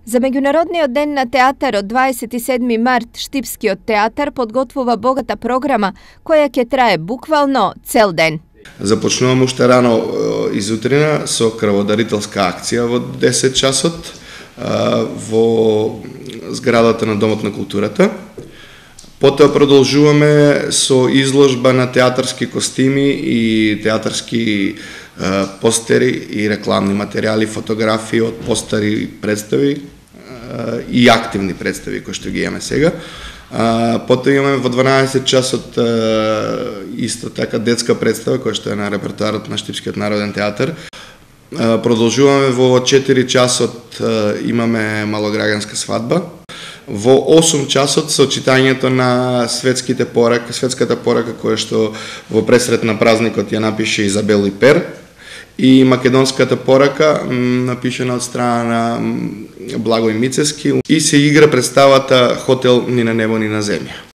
За меѓународниот ден на театарот 27 март Штипскиот театар подготвува богата програма која ќе трае буквално цел ден. Започнувам уште рано изутрина со крводарителска акција во 10 часот во зградата на Домот на културата. Потоа продолжуваме со изложба на театарски костими и театарски постери и рекламни материјали, фотографии од постари представи и активни представи кои што ги имаме сега. Потоа имаме во 12 часот исто така детска представа која што е на репертоарот на Штипскиот народен театар. Продолжуваме во 4 часот имаме малограѓанска свадба. Во 8 часот со читањето на светската порака која што во пресрет на празникот ја напише Изабел Ипер и македонската порака напишена од страна на Благој Мицевски и се игра представата Хотел ни на небо ни на земја.